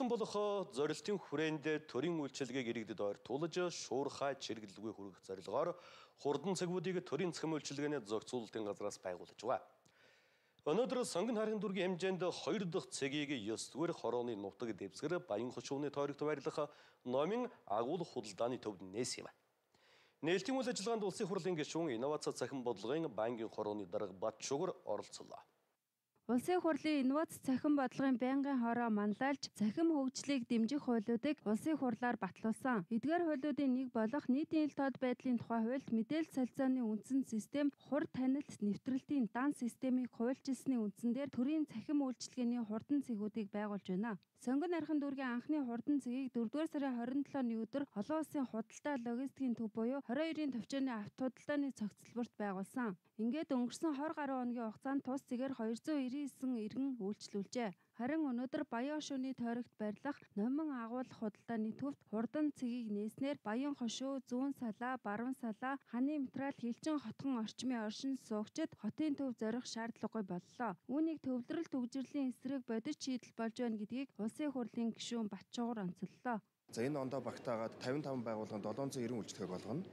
болох зорилтын хүрээнд төрийн үйлчилгээг иргэдэд ойртуулж шуурхай чиргэлгүй хүргэх зорилгоор хурдан цагуудыг төрийн цахим үйлчилгээний зохицуулалтын газраас байгуулж байгаа. Өнөөдөр сонгон харин дүүргийн хэмжээнд 2 дахь цэгийг 9-р хорооны нутаг дэвсгэр Баян хошууны тойрогт байрлах номын агуулга худалдааны төвд нээсэн юм. Нээлтийн үйл ажиллагаанд улсын хурлын гишүүн инновац цахим бодлогын байнгын хорооны дарга Батшугар оролцлоо. Улсын хурлын инновац цахим бодлогын байнгын хороо манлайлж цахим хөгжлийг дэмжих хуулиудыг улсын хурлаар батлуулсан. Эдгээр хуулиудын нэг болох нийтийн ил тод байдлын тухай хуульд мэдээлэл солилцооны үндсэн систем, хур танилт нэвтрэлтийн дан системийг хуульчилсны үндсэн дээр төрийн цахим үйлчилгээний хурдан цэгүүдийг байгуулж байна. Сонгон архин дүүргийн анхны хурдан цэгийг 4-р сарын 27-ны өдөр олон улсын худалдаа логистикийн төв буюу 22-ын төвчөөний авто худалдааны цогцлборт байгуулсан. Ингээд өнгөрсөн 20 гаруй хоногийн хугацаанд тус цэгээр 299 иргэн үйлчлүүлжээ. Харин өнөөдөр Баян хошууны тойрогт байрлах номин агуулга худалдааны төвд хурдан цэгийг нээснээр Баян хошуу, зүүн салаа, баруун салаа, ханы материал хилчин хотхон орчмын оршин суугчид хотын төв зорих шаардлагагүй боллоо. Үүнийг төвлөрөл төгжрлийн эсрэг бодит шийдэл болж байна гэдгийг улсын хурлын гишүүн Батчуугар онцоллоо. За энэ ондоо багтаагаад 55 байгууллаганд 790 үйлчлэгээг болгоно.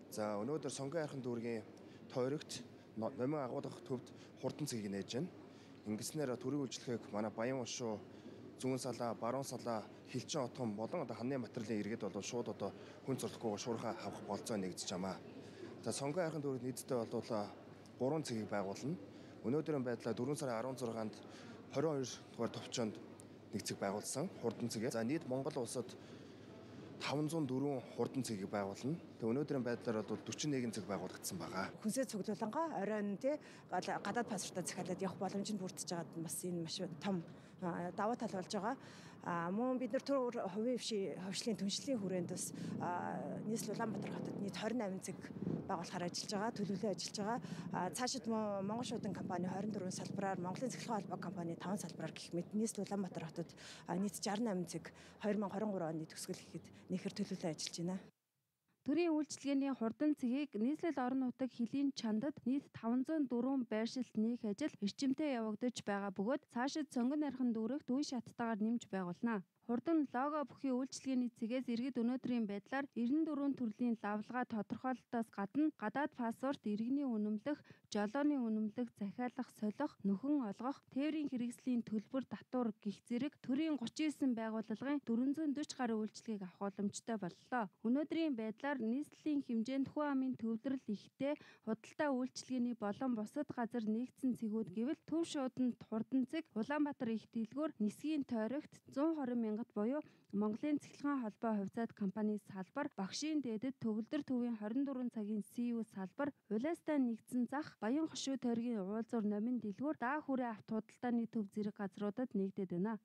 За өнөөдөр сонгон хайрхан дүүргийн тойрогт номин агуулгах төвд хурдан цэгийг нээж байна. Ингэснээр төрийн үйлчлэгээг манай Баян хошуу, зүүн салаа, баруун салаа, хилчин отгон болон ханы материалын иргэд бол шууд хүн зурлаггүй шуурхай авах болцоо нэгдэж байна. За сонгон хайрхан дүүрэг нийтдээ бол 3 цэгийг байгуулна. Өнөөдрийн байдлаар 4 сарын 16-нд 22 дугаар төвчөнд нэг цэг байгуулсан хурдан цэгээ. За нийт Монгол улсад 504 хурдан цэгийг байгуулна. Тэгээ өнөөдрийн байдлаар бол 41 цэг байгуулагдсан байгаа. Хүнсээ цуглуулангаа оройн гадаад паспортоо захиалаад явах боломжинд бүрдэж байгаад бас энэ маш том давуу тал болж байгаа. Мөн бид нар төр хувийн хвшлийн түншлэлийн хүрээнд бас нийслэл Улаанбаатар хотод нийт 28 цэг байгуулахаар ажиллаж байгаа, төлөвлөө ажиллаж байгаа. Цаашид Монгол шуудан компани 24 салбараар, Монголын цэглэхэн холбоо компани 5 салбараар гэх мэт нийслэл Улаанбаатар хотод нийт 68 цэг 2023 оны төгсгөл гэхэд нэхэр төлөвлөө ажиллаж байна. Төрийн үйлчилгээний хурдан цэгийг нийслэл орон нутаг хилийн чандад нийт 504 байршилт нээх ажил эрчимтэй явагдаж байгаа бөгөөд цаашид сонгон архин дүүрэгт үе шаттайгаар нэмж байгуулна. Хурдан лого бүхий үйлчилгээний цэгээс иргэд өнөөдрийн байдлаар 94 төрлийн лавлгаа тодорхойлолтоос гадна гадаад паспорт, иргэний үнэмлэх, жолооны үнэмлэх, захиалах, солих, нөхөн олгох, тээврийн хэрэгслийн төлбөр татвар гих зэрэг төрийн 39 байгууллагын 440 гаруй үйлчилгээг авах боломжтой боллоо. Өнөөдрийн байдлаар нийслэлийн хэмжээнд хүн амын төвлөрөл ихтэй худалдаа үйлчилгээний болон бусад газар нэгдсэн цэгүүд гэвэл Төв шууданд хурдан цэг, Улаанбаатар их дэлгүүр, Нисгийн тойрогт 120 мянгат буюу Монголын цэглэхэн холбоо хувьцаат компани салбар, Багшийн дээдэд төгөлдөр төвийн 24 цагийн СУ салбар, улаастай нэгдсэн зах, Баян хошуу тойргийн уулзуур номин дэлгүүр, даа хүрээ авто худалдааны төв зэрэг газруудад нэгдээд байна.